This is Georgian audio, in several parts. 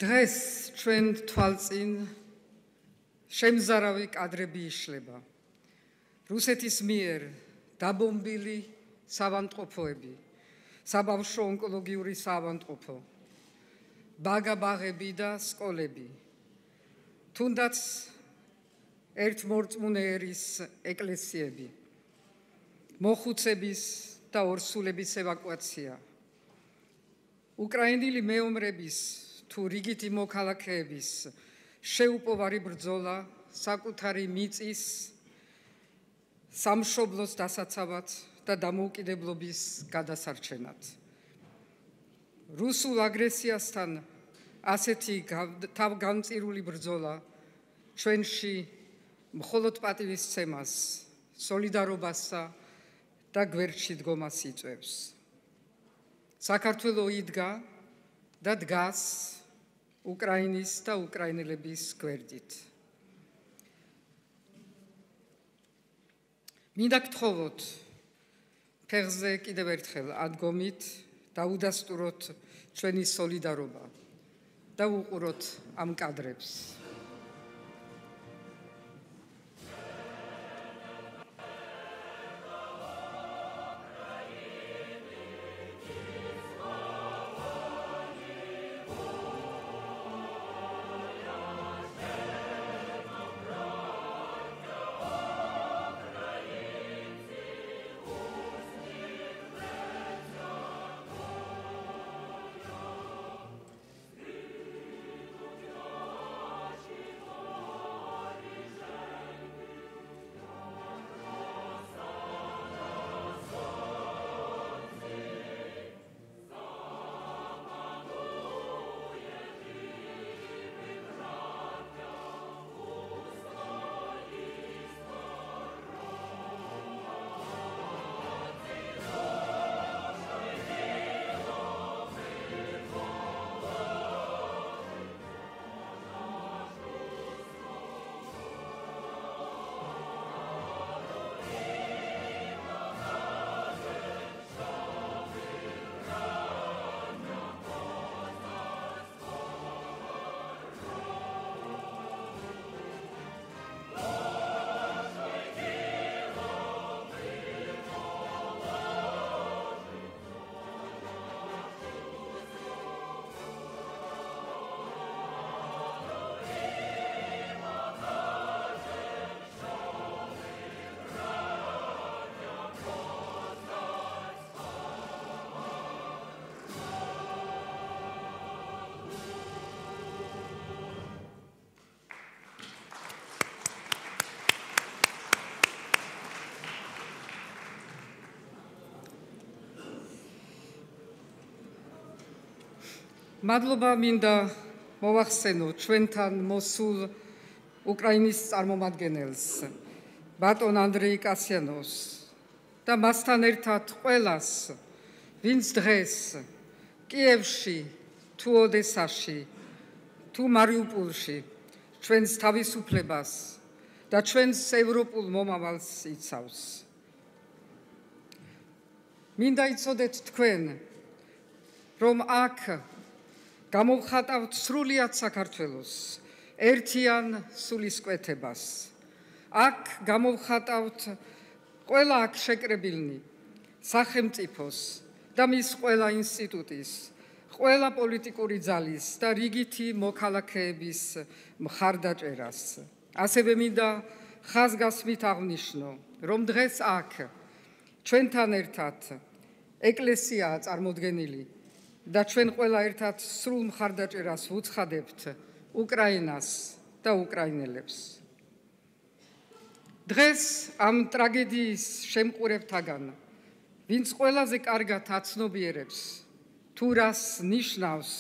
დღეს ჩვენ თვალწინ შემზარავი კადრები იშლება. რუსეთის მიერ დაბომბილი საავადმყოფოები, საბავშვო ონკოლოგიური საავადმყოფო, ბაგა-ბაღები და სკოლები, თუნდაც ერთმორწმუნე ერის ეკლესიები, მოხუცების და ორსულების ევაკუაცია, უკრაინელი მეომრების თუ რიგითი მოქალაქეების შეუპოვარი ბრძოლა საკუთარი მიწის სამშობლოს დასაცავად და დამოუკიდებლობის გადასარჩენად. რუსულ აგრესიასთან ასეთი თავგამწირული ბრძოლა ჩვენში მხოლოდ პატივისცემას, სოლიდარობასა და გვერდში დგომას იწვევს. საქართველო იდგა და დგას უკრაინის და უკრაინელების გვერდით. მინდა გთხოვოთ ფეხზე კიდევ ერთხელ ადგომით და უდასტუროთ ჩვენი სოლიდარობა და უყუროთ ამ კადრებს. მადლობა მინდა მოვახსენო ჩვენთან მოსულ უკრაინის წარმომადგენელს, ბატონ ანდრეი კასიანოვს და მასთან ერთად ყველას, ვინც დღეს კიევში, თუ ოდესაში, თუ მარიუპოლში ჩვენს თავისუფლებას და ჩვენს ევროპულ მომავალს იცავს. მინდა იცოდეთ თქვენ, რომ აქ გამოვხატავთ სრულიად საქართველოს ერთიან სულისკვეთებას. აქ გამოვხატავთ ყველა აქ შეკრებილნი სახელმწიფოს და მის ყველა ინსტიტუტის, ყველა პოლიტიკური ძალის და რიგითი მოქალაქეების მხარდაჭერას. ასევე მინდა ხაზგასმით აღნიშნო, რომ დღეს აქ ჩვენთან ერთად ეკლესიაა წარმოდგენილი და ჩვენ ყველა ერთად სრულ მხარდაჭერას ვუცხადებთ უკრაინას და უკრაინელებს. დღეს ამ ტრაგედიის შემყურებთაგან, ვინც ყველაზე კარგად აცნობიერებს თუ რას ნიშნავს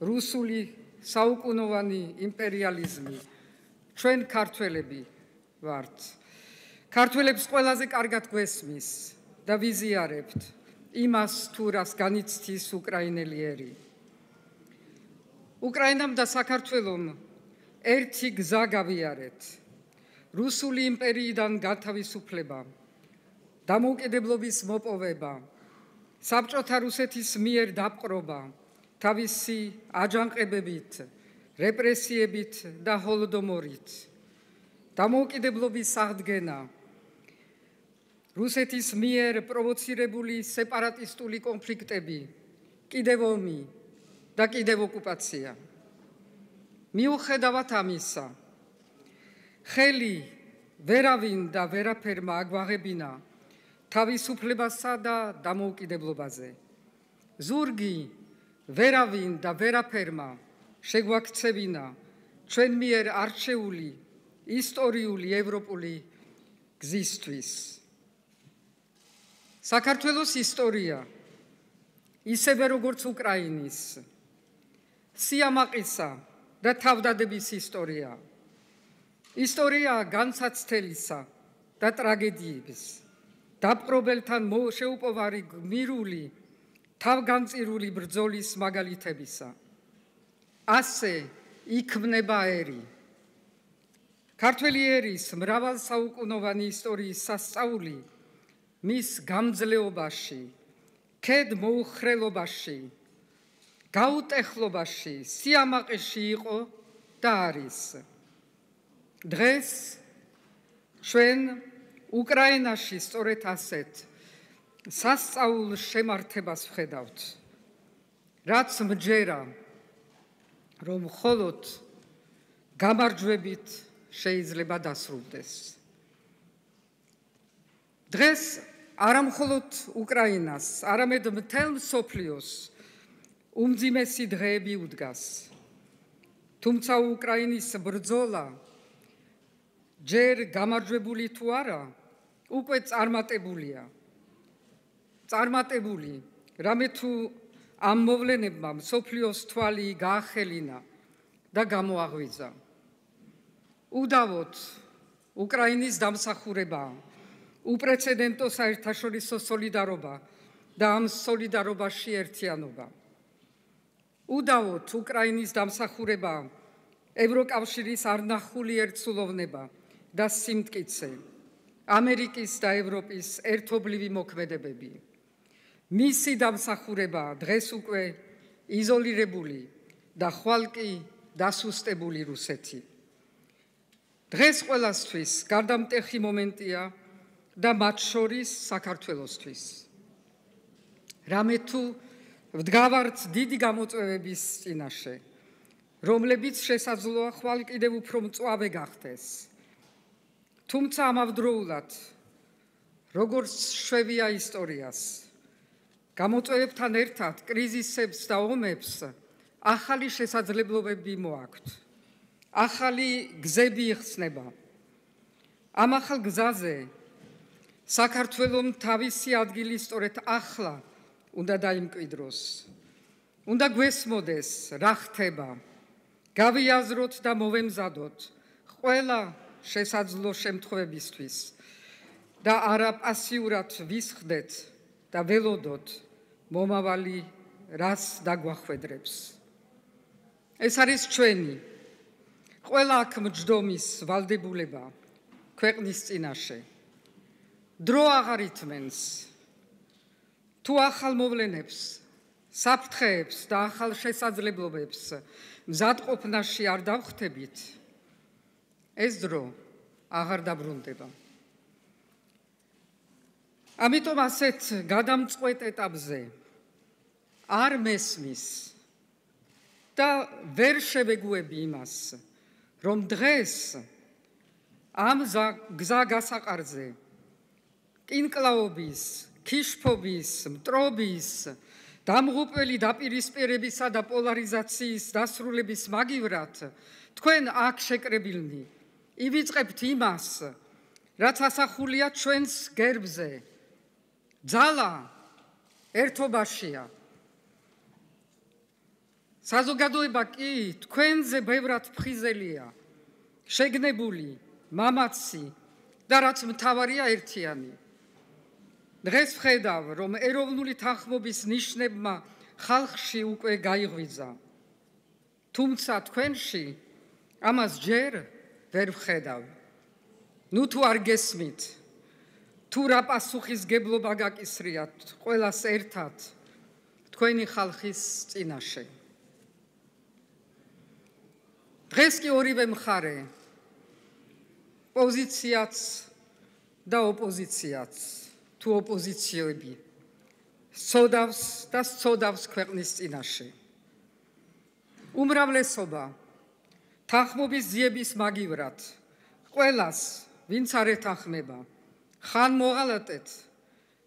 რუსული საუკუნოვანი იმპერიალიზმი, ჩვენ ქართველები ვართ. ქართველებს ყველაზე კარგად გვესმის და ვიზიარებთ იმას თუ რას განიცდის უკრაინელი ერი. უკრაინამ და საქართველომ ერთი გზა გავიარეთ. რუსული იმპერიიდან გათავისუფლება, დამოუკიდებლობის მოპოვება, საბჭოთა რუსეთის მიერ დაპყრობა, თავისი აჯანყებებით, რეპრესიებით და ჰოლოდომორით. დამოუკიდებლობის აღდგენა, რუსეთის მიერ პროვოცირებული სეპარატისტული კონფლიქტები, კიდევ ომი და კიდევ ოკუპაცია. მიუხედავად ამისა, ხელი ვერავინ და ვერაფერმა აგვაღებინა თავისუფლებასა და დამოუკიდებლობაზე. ზურგი ვერავინ და ვერაფერმა შეგვაქცევინა ჩვენ მიერ არჩეული ისტორიული ევროპული გზისთვის. საქართველოს ისტორია, ისევე როგორც უკრაინის, სიამაყისა და თავდადების ისტორია. ისტორია განსაცდელისა და ტრაგედიების, დაპყრობელთან შეუპოვარი გმირული, თავგანწირული ბრძოლის მაგალითებისა. ასე იქმნება ერი. ქართველი ერის მრავალსაუკუნოვანი ისტორიის სასწაული მის გამძლეობაში, ქედმოუხრელობაში, გაუტეხლობაში, სიამაყეში იყო და არის. დღეს ჩვენ უკრაინაში სწორედ ასეთ სასწაულ შემართებას ვხედავთ, რაც მჯერა, რომ მხოლოდ გამარჯვებით შეიძლება დასრულდეს. დღეს არა მხოლოდ უკრაინას, არამედ მთელ მსოფლიოს უმძიმესი დღეები უდგას. თუმცა უკრაინის ბრძოლა ჯერ გამარჯვებული თუ არა, უკვე წარმატებულია. წარმატებული, რამე თუ ამ მოვლენებმა მსოფლიოს თვალი გაახელინა და გამოაღვიძა. უდავოდ უკრაინის დამსახურება, უპრეცედენტო საერთაშორისო სოლიდარობა და ამ სოლიდარობაში ერთიანობა. უდავოდ უკრაინის დამსახურება, ევროკავშირის არნახული ერთსულოვნება და სიმტკიცე, ამერიკის და ევროპის ერთობლივი მოქმედებები. მისი დამსახურება დღეს უკვე იზოლირებული და ხვალკი დასუსტებული რუსეთი. დღეს ყველასთვის გარდამტეხი მომენტია და მათ შორის საქართველოსთვის. რამე თუ ვდგავართ დიდი გამოწვევების წინაშე, რომლებიც შესაძლოა ხვალ კიდევ უფრო მწვავე გახდეს. თუმცა ამავდროულად, როგორც შვევია ისტორიას, გამოწვევებთან ერთად კრიზისებს და ომებს ახალი შესაძლებლობები მოაქვთ. ახალი გზები იხსნება. ამ ახალ გზაზე საქართველომ თავისი ადგილი სწორედ ახლა უნდა დაიმკვიდროს. უნდა გვესმოდეს, რა ხდება. გავიაზროთ და მოვემზადოთ ყველა შესაძლო შემთხვევებისთვის და არა პასიურად ვისხდეთ და ველოდოთ მომავალი რას დაგვახვედრებს. ეს არის ჩვენი ყველა აქ მჯდომის ვალდებულება ქვეყნის წინაშე. დრო აღარ ითმენს. თუ ახალ მოვლენებს, საფრთხეებს და ახალ შესაძლებლობებს მზადყოფნაში არ დავხვდებით, ეს დრო აღარ დაბრუნდება. ამიტომ ასეთ გადამწყვეტ ეტაპზე არ მესმის და ვერ შევეგუები იმას, რომ დღეს ამ გზა გასაყარზე კინკლაობის, ქიშფობის, მტრობის, დამღუპველი დაპირისპირებისა და პოლარიზაციის დასრულების მაგივრად თქვენ აქ შეკრებილნი ივიწყებთ იმას, რაც ასახულია ჩვენს გერბზე. ძალა ერთობაშია. საზოგადოება კი თქვენზე ბევრად ფხიზელია, შეგნებული, მამაცი და რაც მთავარია ერთიანი. დღეს ვხედავ, რომ ეროვნული თანხმობის ნიშნებმა ხალხში უკვე გაიღვიძა. თუმცა თქვენში ამას ჯერ ვერ ვხედავ. ნუ თუ არ გესმით, თუ რა პასუხისგებლობა გაკისრიათ ყველას ერთად, თქვენი ხალხის წინაშე. დღეს კი ორივე მხარე, პოზიციაც და ოპოზიციაც, თუ ოპოზიციები, სწოდავს და სწოდავს ქვეყნის წინაშე. უმრავლესობა თანხმობის ძიების მაგივრად, ყველას, ვინც არ ეთანხმება, ხან მოღალატეთ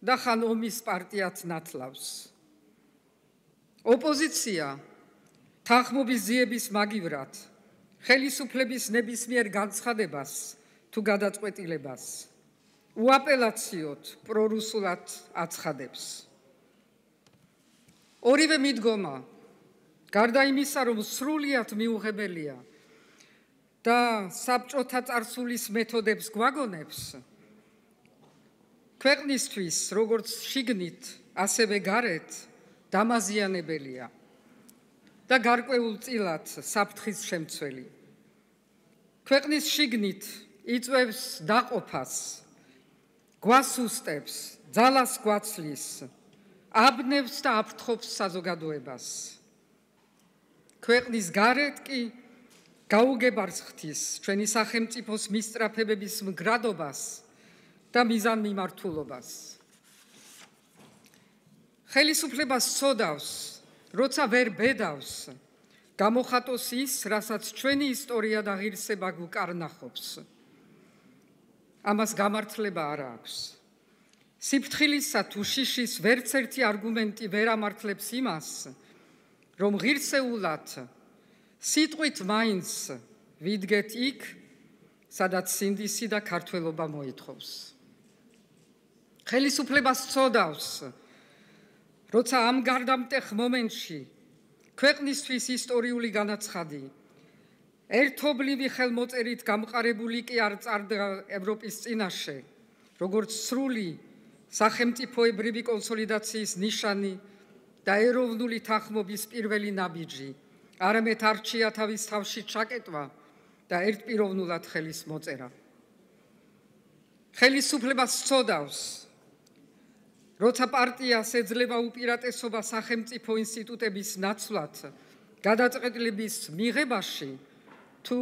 და ხან ომის პარტიად ნათლავს. ოპოზიცია თანხმობის ძიების მაგივრად, ხელისუფლების ნებისმიერ განცხადებას თუ გადაწყვეტილებას უაპელაციოდ პრორუსულად აცხადებს. ორივე მიდგომა, გარდა იმისა, რომ სრულიად მიუღებელია და საბჭოთა წარსულის მეთოდებს გვაგონებს, ქვეყნისთვის, როგორც შიგნით, ასევე გარეთ, დამაზიანებელია და გარკვეულწილად საფრთხის შემცველი. ქვეყნის შიგნით იწვევს დაყოფას, გვასუსტებს, ძალას გვაცლის, აბნევს და აფრთხობს საზოგადოებას. ქვეყნის გარეთ კი გაუგებარს ხდის ჩვენი სახელმწიფოს მისწრაფებების მგრადობას და მიზანმიმართულობას. ხელისუფლებას სწოდავს, როცა ვერ ბედავს, გამოხატოს ის, რასაც ჩვენი ისტორია და ღირსება გვკარნახობს. ამას გამართლება არ აქვს. სიფრთხილისა თუ შიშის ვერც ერთი არგუმენტი ვერ ამართლებს იმას, რომ ღირსეულად სიტყვით მაინც ვიდგეთ იქ, სადაც სინდისი და ქართველობა მოითხოვს. ხელისუფლებას სწოდავს, როცა ამ გარდამტეხ მომენტში ქვეყნისთვის ისტორიული განაცხადი, ერთობლივი ხელმოწერით გამყარებული კი არ წარდგა ევროპის წინაშე, როგორც სრული სახელმწიფოებრივი კონსოლიდაციის ნიშანი და ეროვნული თანხმობის პირველი ნაბიჯი, არამედ არჩია თავის თავში ჩაკეტვა და ერთპიროვნულად ხელის მოწერა. ხელისუფლებას სწოდავს, როცა პარტიას ეძლევა უპირატესობა სახელმწიფო ინსტიტუტების ნაცვლად, გადაწყვეტილების მიღებაში თუ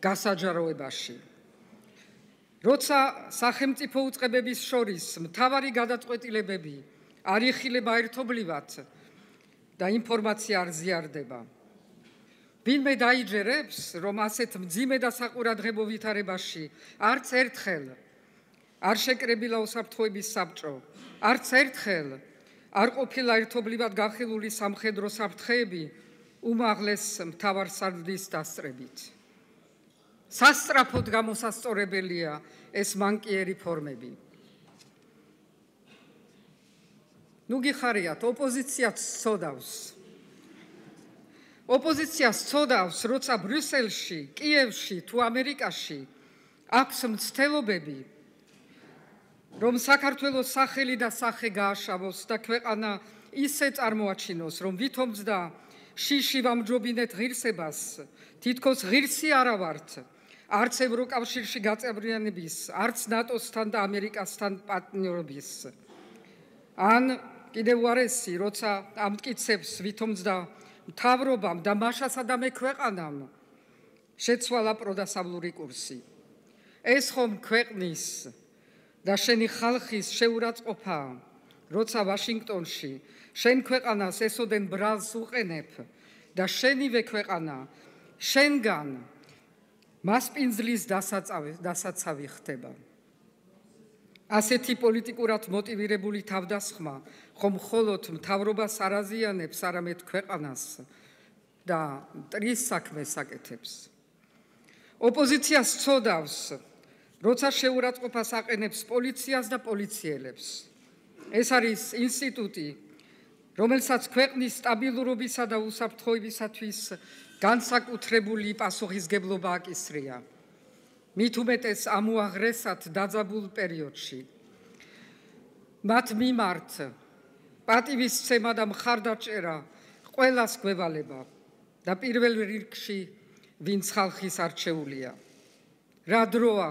გასაჯაროებაში. როცა სახელმწიფო უწყებების შორის მთავარი გადაწყვეტილებები არ იხილება ერთობლივად და ინფორმაცია არ ზიარდება. ვინმე დაიჯერებს, რომ ასეთ მძიმე და საყურადღებო ვითარებაში არც ერთხელ არ შეკრებილა უსაფრთხოების საბჭო, არც ერთხელ არ ყოფილა ერთობლივად განხილული სამხედრო საფრთხეები უმაღლეს მთავარსარდლის დასწრებით. სასწრაფოდ გამოსასწორებელია ეს მანკიერი ფორმები. ნუ გიხარიათ, ოპოზიციაც სწოდავს. ოპოზიცია სწოდავს, როცა ბრიუსელში, კიევში თუ ამერიკაში აქვს მცდელობები, რომ საქართველოს სახელი და სახე გააშავოს და ქვეყანა ისე წარმოაჩინოს, რომ ვითომძდა შიში ვამჯობინეთ ღირსებას, თითქოს ღირსი არა ვართ, არც ევროკავშირში გაწევრიანების, არც ნატოსთან და ამერიკასთან პარტნიორობის. ან კიდევ უარესი, როცა ამტკიცებს ვითომძდა მთავრობამ და მაშასადამე ქვეყანამ შეცვალა პროდასავლური კურსი. ეს ხომ ქვეყნის და შენი ხალხის შეურაცხყოფაა, როცა ვაშინგტონში შენ ქვეყანას ესოდენ ბრალს უყენებ და შენივე ქვეყანა შენგან მასპინძლის დასაცავი ხდება. ასეთი პოლიტიკურად მოტივირებული თავდასხმა ხომ მხოლოდ მთავრობას არ აზიანებს, არამედ ქვეყანას და მტრის საქმეს აკეთებს. ოპოზიციას სწოდავს, როცა შეურაცხყოფას აყენებს პოლიციას და პოლიციელებს. ეს არის ინსტიტუტი, რომელსაც ქვეყნის სტაბილურობისა და უსაფრთხოებისათვის განსაკუთრებული პასუხისგებლობა აკისრია. მით უმეტეს ამ უაღრესად დაძაბულ პერიოდში. მათ მიმართ პატივისცემა და მხარდაჭერა ყველას გვევალება და პირველ რიგში ვინც ხალხის არჩეულია. რა დროა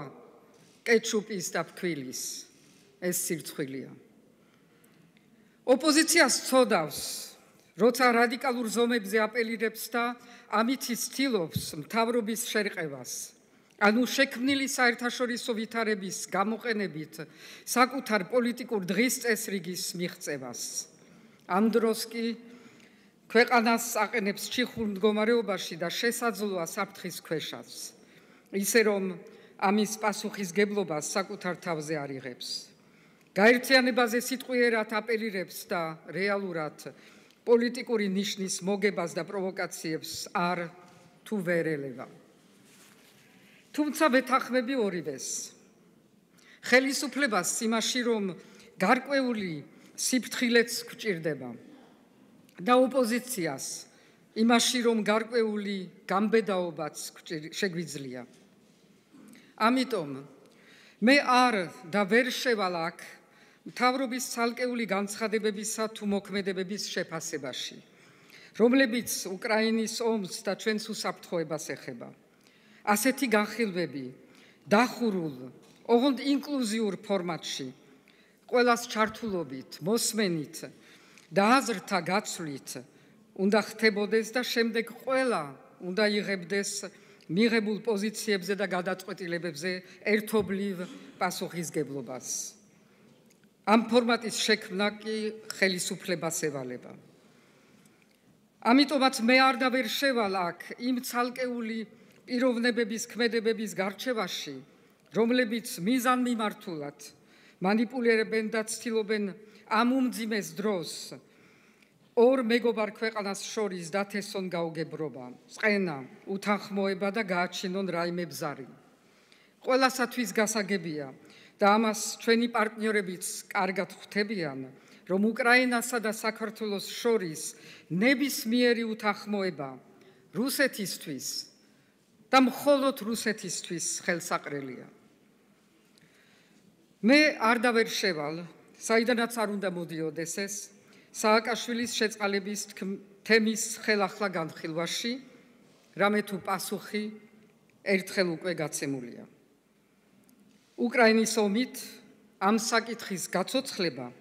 კეჩუპის და ფქვილის ეს სირცხვილია. ოპოზიციას სწოდავს, როცა რადიკალურ ზომებზე აპელირებს და ამით ცდილობს მთავრობის შერყევას. ანუ შექმნილი საერთაშორისო ვითარების გამოყენებით საკუთარ პოლიტიკურ დღის წესრიგის მიღწევას. ამ დროს კი ქვეყანას აყენებს ჩიხურ მდგომარეობაში და შესაძლოა საფრთხის ქვეშაც. ისე რომ ამის პასუხისგებლობას საკუთარ თავზე არ იღებს. გაერთიანებაზე სიტყვიერად აპელირებს და რეალურად პოლიტიკური ნიშნის მოგებას და პროვოკაციებს არ თუ ვერ ელევა. თუმცა ვეთანხმები ორივეს. ხელისუფლებას იმაში, რომ გარკვეული სიფრთხილეც გვჭირდება და ოპოზიციას იმაში, რომ გარკვეული გამბედაობაც შეგვიძლია. ამიტომ მე არ და ვერ შევალ აქ მთავრობის ცალკეული განცხადებებისა თუ მოქმედებების შეფასებაში, რომლებიც უკრაინის ომს და ჩვენს უსაფრთხოებას ეხება. ასეთი განხილვები დახურულ, ოღონდ ინკლუზიურ ფორმატში, ყველას ჩართულობით, მოსმენით და აზრთა გაცვლით უნდა ხდებოდეს და შემდეგ ყველა უნდა იღებდეს მიღებულ პოზიციებზე და გადაწყვეტილებებზე ერთობლივ პასუხისგებლობას. ამ ფორმატის შექმნა კი ხელისუფლებას ევალება. ამიტომაც მე არ და ვერ შევალ აქ იმ ცალკეული პიროვნებების ქმედებების გარჩევაში, რომლებიც მიზანმიმართულად მანიპულირებენ და ცდილობენ ამ უმძიმეს დროს ორ მეგობარ ქვეყანას შორის დათესონ გაუგებრობა, წყენა, უთანხმოება და გააჩინონ რაიმე ბზარი. ყველასათვის გასაგებია და ამას ჩვენი პარტნიორებიც კარგად ხვდებიან, რომ უკრაინასა და საქართველოს შორის ნებისმიერი უთანხმოება რუსეთისთვის და მხოლოდ რუსეთისთვის ხელსაყრელია. მე არ და ვერ შევალ, საიდანაც არ უნდა მოდიოდეს ეს, სააკაშვილის შეწყალების თემის ხელახლა განხილვაში, რამე თუ პასუხი ერთხელ უკვე გაცემულია. უკრაინის ომით ამ საკითხის გაცოცხლება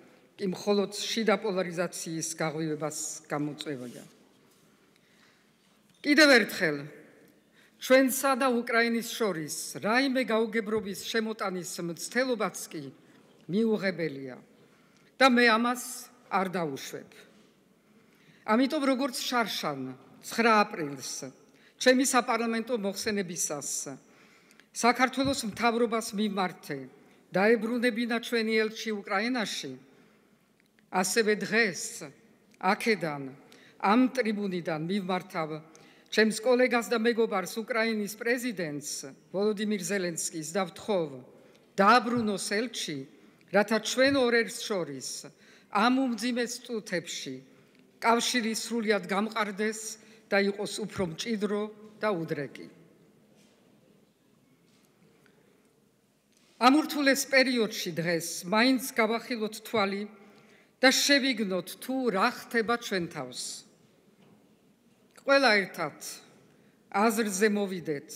კი მხოლოდ შიდა პოლარიზაციის გაღვივებას გამოწვევია. კიდევ ერთხელ ჩვენსა და უკრაინის შორის რაიმე გაუგებრობის შემოტანის მცდელობაც კი მიუღებელია და მე ამას არ დავუშვებ. ამიტომ როგორც შარშან 9 აპრილს ჩემი საპარლამენტო მოხსენებისას საქართველოს მთავრობას მიმართე დაებრუნებინა ჩვენი ელჩი უკრაინაში, ასევე დღეს აქედან ამ ტრიბუნიდან მიმართავ ჩემს კოლეგას და მეგობარს უკრაინის პრეზიდენტს ვოლოდიმირ ზელენსკის და ვთხოვ დააბრუნოს ელჩი, რათა ჩვენ ორერს შორის ამ უმძიმეს წუთებში კავშირი სრულიად გამყარდეს და იყოს უფრო მჭიდრო და უდრეკი. ამ ურთულეს პერიოდში დღეს მაინც გავახილოთ თვალი და შევიგნოთ თუ რა ხდება ჩვენ თავს. ყველა ერთად აზრზე მოვიდეთ,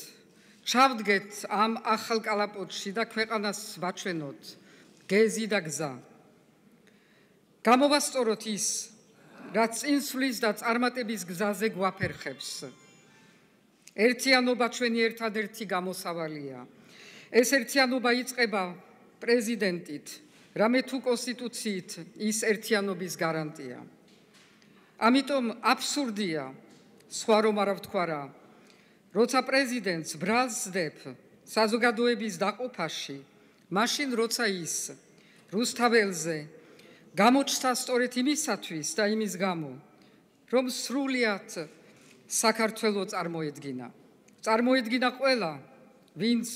ჩავდგეთ ამ ახალ კალაპოტში და ქვეყანას ვაჩვენოთ გეზი და გზა. გამოვასწოროთ ის, რაც წინსვლის და წარმატების გზაზე გვაფერხებს. ერთიანობა ჩვენი ერთადერთი გამოსავალია. ეს ერთიანობა იწყება პრეზიდენტით, რამე თუ კონსტიტუციით ის ერთიანობის გარანტია. ამიტომ აბსურდია, სხვა რომ არა ვთქვა რა, როცა პრეზიდენტს ბრალს სდებ საზოგადოების დაყოფაში, მაშინ როცა ის რუსთაველზე გამოჩნდა სწორედ იმისათვის და იმის გამო, რომ სრულიად საქართველო წარმოედგინა ყველა, ვინც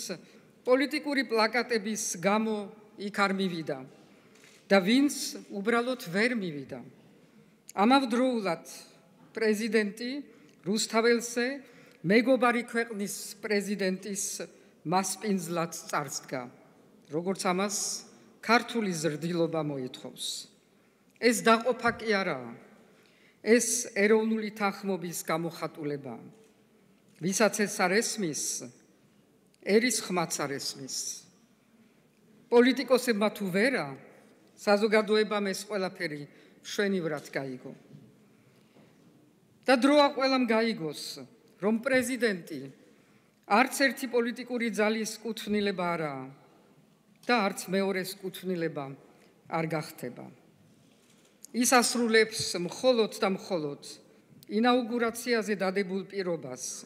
პოლიტიკური პლაკატების გამო იქ არ მივიდა და ვინც უბრალოდ ვერ მივიდა. ამავდროულად პრეზიდენტი რუსთაველზე მეგობარი ქვეყნის პრეზიდენტის მასპინძლად წარსდგა, როგორც ამას ქართული ზრდილობა მოითხოვს. ეს დაყოფა კი არაა, ეს ეროვნული თანხმობის გამოხატულებაა. ვისაც ეს არ ესმის, ერის ხმაც არ ესმის. პოლიტიკოსებმა თუ ვერა, საზოგადოებამ ეს ყველაფერი მშვენივრად გაიგო. და დროა ყველამ გაიგოს, რომ პრეზიდენტი არც ერთი პოლიტიკური ძალის კუთვნილება არაა და არც მეორეს კუთვნილება არ გახდება. ის ასრულებს მხოლოდ და მხოლოდ ინაუგურაციაზე დადებულ პირობას,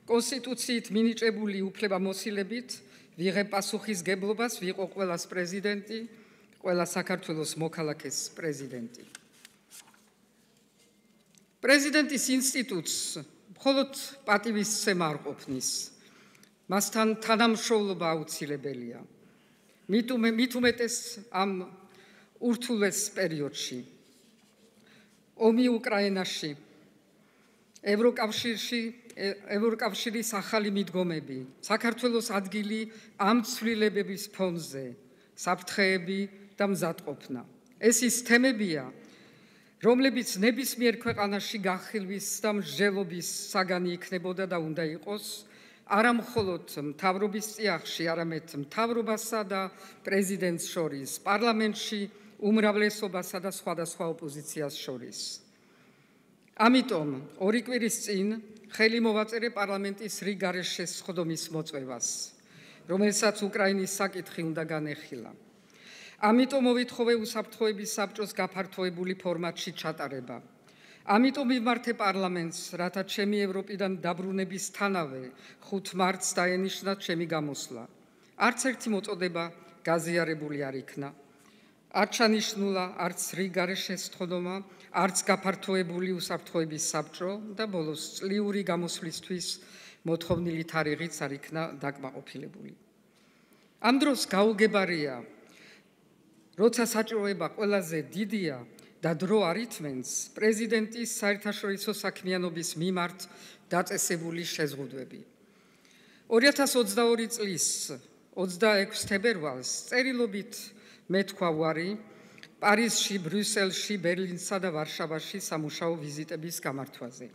კონსტიტუციით მინიჭებული უფლებამოსილებით ვიღებ პასუხისგებლობას, ვიყო ყველას პრეზიდენტი, ყველა საქართველოს მოქალაქეს პრეზიდენტი. პრეზიდენტის ინსტიტუტს მხოლოდ პატივისცემა არ ყოფნის, მასთან თანამშრომლობა აუცილებელია. მით უმეტეს ამ ურთულეს პერიოდში. ომი უკრაინაში, ევროკავშირის ახალი მიდგომები, საქართველოს ადგილი ამ ცვლილებების ფონზე, საფრთხეები და მზადყოფნა. ეს ის თემებია, რომლებიც ნებისმიერ ქვეყანაში გახილვის და მსჯელობის საგანი იქნებოდა და უნდა იყოს, არა მხოლოდ მთავრობის წიაღში, არამედ მთავრობასა და პრეზიდენტს შორის, პარლამენტში უმრავლესობასა და სხვადასხვა ოპოზიციას შორის. ამიტომ ორი კვირის წინ ხელი მოვაწერე პარლამენტის რიგ გარეშესხდომის მოწვევას, რომელსაც უკრაინის საკითხი უნდა განეხილა. ამიტომ მოვითხოვე უსაფრთხოების საბჭოს გაფართოებული ფორმატში ჩატარება. ამიტომ მიმართე პარლამენტს, რათა ჩემი ევროპიდან დაბრუნებისთანავე 5 მარტს დაენიშნათ ჩემი გამოსვლა. არც ერთი მოწოდება გაზიარებული არ იქნა. არ ჩანიშნულა არც რიგ გარეშესხდომა, არც გაფართოებული უსაფრთხოების საბჭო და ბოლოს წლიური გამოსვლისთვის მოთხოვნილი თარიღიც არ იქნა დაკმაყოფილებული. ამ დროს გაუგებარია, როცა საჭიროება ყველაზე დიდია და დრო არ ითმენს, პრეზიდენტის საერთაშორისო საქმიანობის მიმართ დაწესებული შეზღუდვები. 2022 წლის 26 თებერვალს წერილობით მეთქვა უარი პარიზში, ბრიუსელში, ბერლინსა და ვარშავაში სამუშაო ვიზიტების გამართვაზე.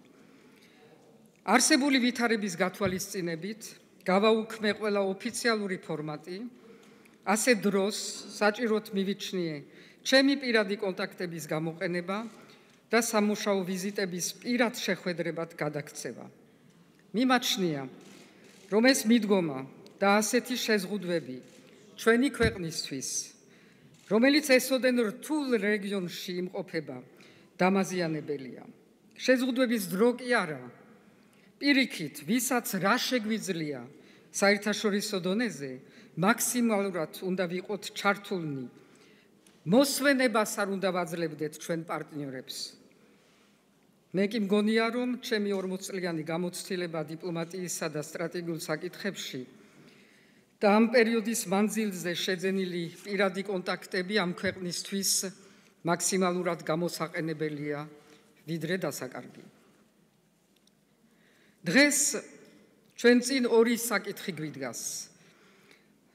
არსებული ვითარების გათვალისწინებით გავაუქმე ყველა ოფიციალური ფორმატი, ასე დროს საჭიროდ მივიჩნიე ჩემი პირადი კონტაქტების გამოყენება და სამუშაო ვიზიტების პირად შეხვედრებად გადაქცევა. მიმაჩნია, რომ ეს მიდგომა და ასეთი შეზღუდვები ჩვენი ქვეყნისთვის, რომელიც ესოდენ რთულ რეგიონში იმყოფება, დამაზიანებელია. შეზღუდვების დრო კი არა, პირიქით, ვისაც რა შეგვიძლია საერთაშორისო დონეზე, მაქსიმალურად უნდა ვიყოთ ჩართულნი. მოსვენებას არ უნდა ვაძლევდეთ ჩვენ პარტნიორებს. მე კი მგონია, რომ ჩემი 40 წლიანი გამოცდილება დიპლომატიისა და სტრატეგიულ საკითხებში და ამ პერიოდის მანძილზე შეძენილი პირადი კონტაქტები ამ ქვეყნისთვის მაქსიმალურად გამოსაყენებელია, ვიდრე დასაკარგი. დღეს ჩვენ წინ ორი საკითხი გვიდგას,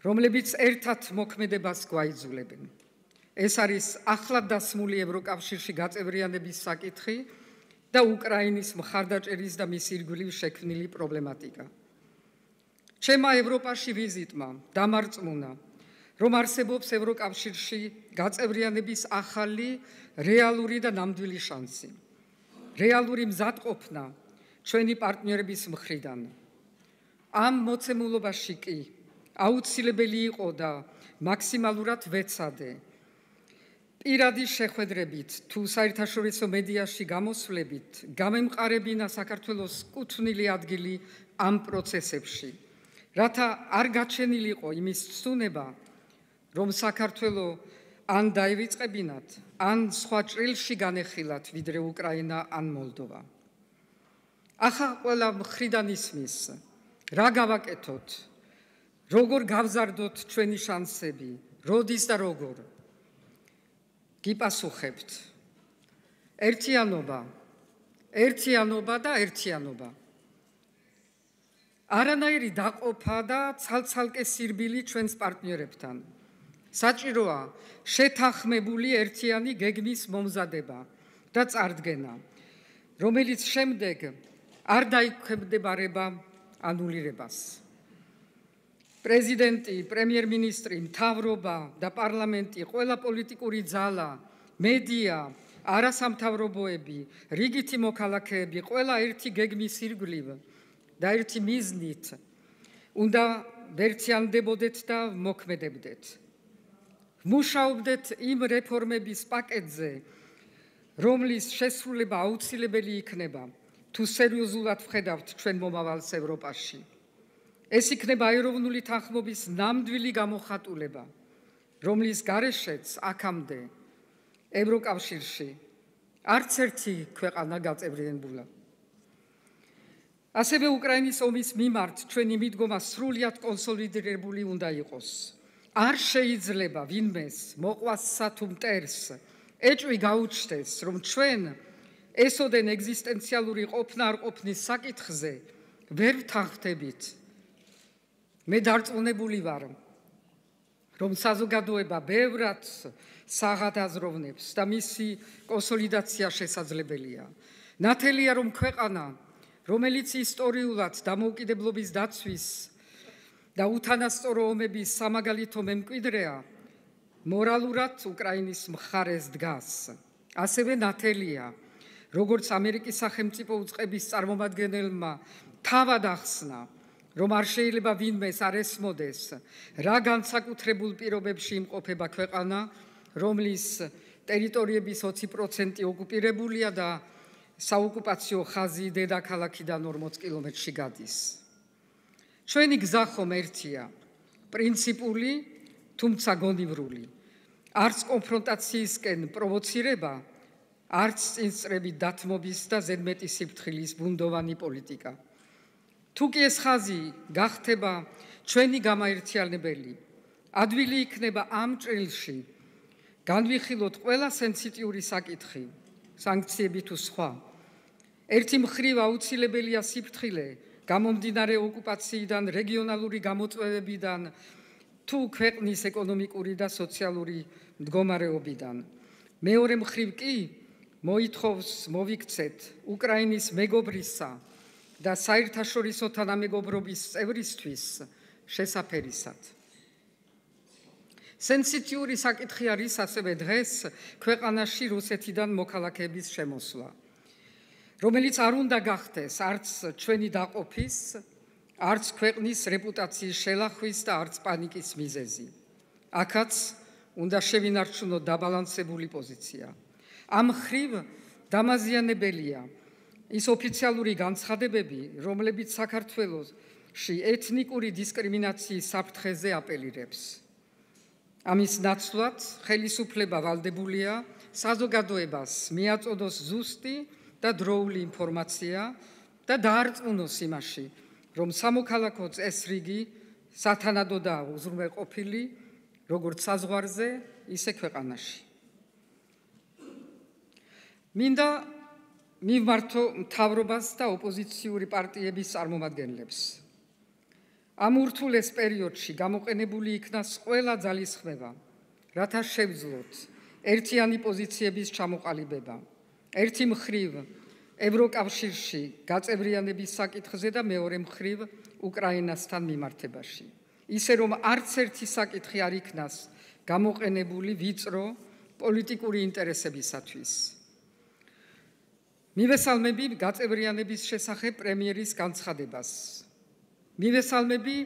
რომლებიც ერთად მოქმედებას გვაიძულებენ. ეს არის ახლად დასმული ევროკავშირში გაწევრიანების საკითხი და უკრაინის მხარდაჭერის და მის ირგვლივ შექმნილი პრობლემატიკა. ჩემმა ევროპაში ვიზიტმა დამარწმუნა, რომ არსებობს ევროკავშირში გაწევრიანების ახალი, რეალური და ნამდვილი შანსი. რეალური მზადყოფნა ჩვენი პარტნიორების მხრიდან. ამ მოცემულობაში კი აუცილებელი იყო და მაქსიმალურად ვეცადე პირადი შეხვედრებით თუ საერთაშორისო მედიაში გამოსვლებით გამემყარებინა საქართველოს კუთვნილი ადგილი ამ პროცესებში, რათა არ გაჩენილიყო იმის ცუნება, რომ საქართველო ან დაივიწყებინათ, ან სხვა ჭრილში განეხილათ, ვიდრე უკრაინა ან მოლდოვა. ახლა ყველა მხრიდან ისმის, რა გავაკეთოთ, როგორ გავზარდოთ ჩვენი შანსები, როდის და როგორ. გიპასუხებთ, ერთიანობა და ერთიანობა. არანაირი დაყოფა და ცალ-ცალკე სირბილი ჩვენს პარტნიორებთან. საჭიროა შეთანხმებული ერთიანი გეგმის მომზადება და წარდგენა, რომელიც შემდეგ არ დაიქვემდებარება ანულირებას. პრეზიდენტი, პრემიერ-მინისტრი, მთავრობა და პარლამენტი, ყველა პოლიტიკური ძალა, მედია, არასამთავრობოები, რიგითი მოქალაქეები, ყველა ერთი გეგმის ირგვლივ და ერთი მიზნით უნდა ვერთიანდებოდეთ და მოქმედებდეთ. მუშაობდეთ იმ რეფორმების პაკეტზე, რომლის შესრულება აუცილებელი იქნება, თუ სერიოზულად ვხედავთ ჩვენ მომავალს ევროპაში. ეს იქნება ეროვნული თანხმობის ნამდვილი გამოხატულება, რომლის გარეშეც აქამდე ევროკავშირში არც ერთი ქვეყანა გაწევრიანებულა. ასევე უკრაინის ომის მიმართ ჩვენი მიდგომა სრულიად კონსოლიდირებული უნდა იყოს. არ შეიძლება ვინმეს მოყვასსა თუ მტერს ეჭვი გაუჩნდეს, რომ ჩვენ ესოდენ ეგზისტენციალური ყოფნა არ ყოფნის საკითხზე ვერ ვთანხმდებით. მე დარწმუნებული ვარ, რომ საზოგადოება ბევრად საღადაზროვნებს და მისი კონსოლიდაცია შესაძლებელია. ნათელია, რომ ქვეყანა, რომელიც ისტორიულად დამოუკიდებლობის დაცვის და უთანასწორო ომების სამაგალითო მემკვიდრეა, მორალურად უკრაინის მხარეს დგას. ასევე ნათელია, როგორც ამერიკის სახელმწიფო უწყების წარმომადგენელმა თავად ახსნა, რომ არ შეიძლება ვინმეს არ ესმოდეს, რა განსაკუთრებულ პირობებში იმყოფება ქვეყანა, რომლის ტერიტორიების 20% ოკუპირებულია და საოკუპაციო ხაზი დედაქალაქიდან 40 კილომეტრში გადის. ჩვენი გზა ხომ ერთია, პრინციპული, თუმცა გონივრული. არც კონფრონტაციისკენ პროვოცირება, არც წინსწრებით დათმობის და ზედმეტი სიფრთხილის ბუნდოვანი პოლიტიკა. თუ კი ეს ხაზი გახდება ჩვენი გამაერთიანებელი, ადვილი იქნება ამ ჭრილში განვიხილოთ ყველა სენსიტიური საკითხი, სანქციები თუ სხვა. ერთი მხრივ აუცილებელია სიფრთხილე, გამომდინარე ოკუპაციიდან, რეგიონალური გამოწვევებიდან, თუ ქვეყნის ეკონომიკური და სოციალური მდგომარეობიდან. მეორე მხრივ კი მოითხოვს მოვიქცეთ უკრაინის მეგობრისა და საერთაშორისო თანამეგობრობის წევრისთვის შესაფერისად. სენსიტიური საკითხი არის ასევე დღეს ქვეყანაში რუსეთიდან მოქალაქეების შემოსვლა, რომელიც არ უნდა გახდეს არც ჩვენი დაყოფის, არც ქვეყნის რეპუტაციის შელახვის და არც პანიკის მიზეზი. აქაც უნდა შევინარჩუნოთ დაბალანსებული პოზიცია. ამ მხრივ დამაზიანებელია ის ოფიციალური განცხადებები, რომლებიც საქართველოში ეთნიკური დისკრიმინაციის საფრთხეზე აპელირებს. ამის ნაცვლად ხელისუფლება ვალდებულია საზოგადოებას მიაწოდოს ზუსტი და დროული ინფორმაცია და დაარწმუნოს იმაში, რომ სამოქალაქო წესრიგი სათანადოდაა უზრუნველყოფილი როგორც საზღვარზე, ისე ქვეყანაში. მინდა მივმართო მთავრობას და ოპოზიციური პარტიების წარმომადგენლებს. ამ ურთულეს პერიოდში გამოყენებული იქნას ყველა ძალისხმევა, რათა შევძლოთ ერთიანი პოზიციების ჩამოყალიბება. ერთი მხრივ ევროკავშირში გაწევრიანების საკითხზე და მეორე მხრივ უკრაინასთან მიმართებაში. ისე რომ არც ერთი საკითხი არ იქნას გამოყენებული ვიწრო პოლიტიკური ინტერესებისათვის. მივესალმები გაწევრიანების შესახებ პრემიერის განცხადებას. მივესალმები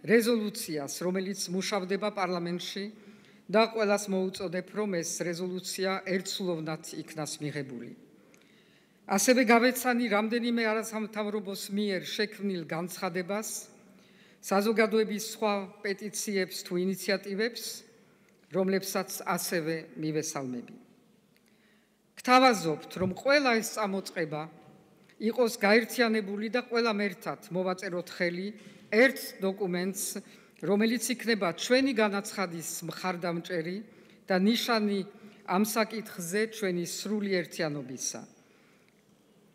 რეზოლუციას, რომელიც მუშავდება პარლამენტში და ყველას მოუწოდებ, რომ ეს რეზოლუცია ერთსულოვნად იქნას მიღებული. ასევე გავეცანი რამდენიმე არასამთავრობოს მიერ შექმნილ განცხადებას, საზოგადოების სხვა პეტიციებს თუ ინიციატივებს, რომლებსაც ასევე მივესალმები. გთავაზობთ, რომ ყველა ეს წამოწყება იყოს გაერთიანებული და ყველამ ერთად მოვაწეროთ ხელი ერთ დოკუმენტს, რომელიც იქნება ჩვენი განაცხადის მხარდამჭერი და ნიშანი ამ საკითხზე ჩვენი სრული ერთიანობისა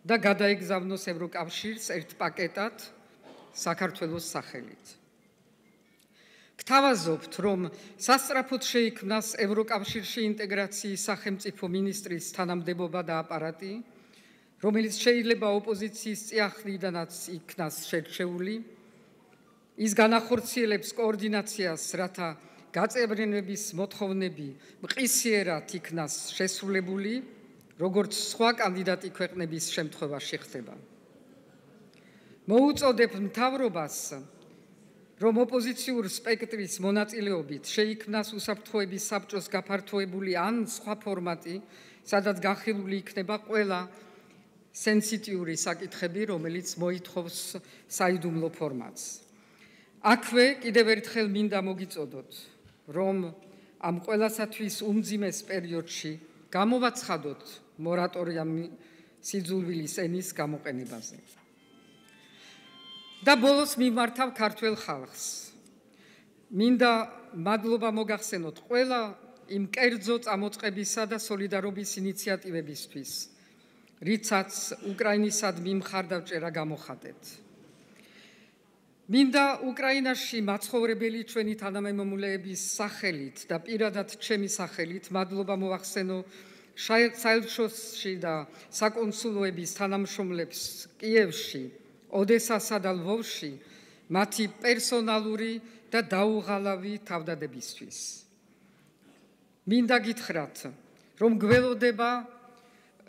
და გადაეგზავნოს ევროკავშირს ერთ პაკეტად საქართველოს სახელით. გთავაზობთ, რომ სასწრაფოდ შეიქმნას ევროკავშირში ინტეგრაციის სახელმწიფო მინისტრის თანამდებობა და აპარატი, რომელიც შეიძლება ოპოზიციის წიაღლიდანაც იქნას შერჩეული, ის განახორციელებს კოორდინაციას, რათა გაწევრიანების მოთხოვნები მყისიერად იქნას შესრულებული, როგორც სხვა კანდიდატი ქვეყნების შემთხვევაში ხდება. მოუწოდებ მთავრობას, რომ ოპოზიციურ სპექტრის მონაწილეობით შეიქმნას უსაფრთხოების საბჭოს გაფართოებული ან სხვა ფორმატი, სადაც განხილული იქნება ყველა სენსიტიური საკითხები, რომელიც მოითხოვს საიდუმლო ფორმატს. აქვე კიდევ ერთხელ მინდა მოგიწოდოთ, რომ ამ ყველასათვის უმძიმეს პერიოდში გამოვაცხადოთ მორატორიუმი სიძულვილის ენის გამოყენებაზე. და ბოლოს მიმართავ ქართველ ხალხს. მინდა მადლობა მოგახსენოთ ყველა იმ კერძო წამოწყებისა და სოლიდარობის ინიციატივებისთვის, რიცაც უკრაინისადმი მხარდაჭერა გამოხატეთ. მინდა უკრაინაში მაცხოვრებელი ჩვენი თანამემამულეების სახელით და პირადად ჩემი სახელით მადლობა მოვახსენო საელჩოში და საკონსულოების თანამშრომლებს კიევში, ოდესასა და ლვოვში მათი პერსონალური და დაუღალავი თავდადებისთვის. მინდა გითხრათ, რომ გველოდება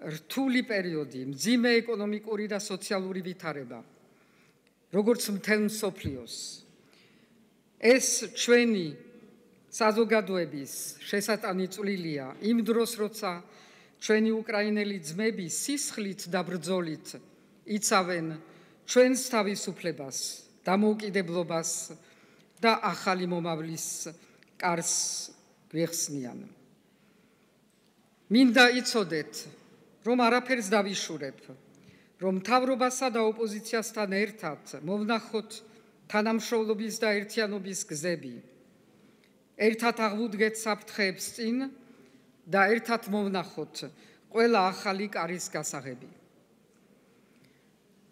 რთული პერიოდი, მძიმე ეკონომიკური და სოციალური ვითარება, როგორც მთელ მსოფლიოს. ეს ჩვენი საზოგადოების შესატანი წვლილია იმ დროს, როცა ჩვენი უკრაინელი ძმები სისხლით და ბრძოლით იცავენ ჩვენს თავისუფლებას, დამოუკიდებლობას და ახალი მომავლის კარს გვეხსნიან. მინდა იცოდეთ, რომ არაფერს დავიშურებ, რომ მთავრობასა და ოპოზიციასთან ერთად მოვნახოთ თანამშრომლობის და ერთიანობის გზები. ერთად აღვუდგეთ საფრთხეებს წინ და ერთად მოვნახოთ ყველა ახალი კარის გასაღები.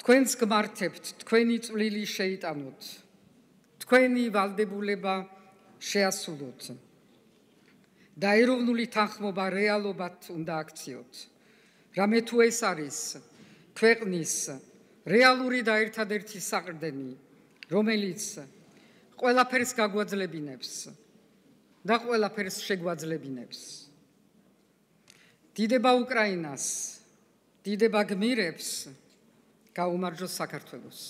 თქვენს გმართებთ, თქვენი წვლილი შეიტანოთ, თქვენი ვალდებულება შეასრულოთ და ეროვნული თანხმობა რეალობად უნდა აქციოთ. რამე თუ ეს არის ქვეყნის რეალური და ერთადერთი საყრდენი, რომელიც ყველაფერს გაგვაძლებინებს და ყველაფერს შეგვაძლებინებს. დიდება უკრაინას, დიდება გმირებს, გაუმარჯოს საქართველოს.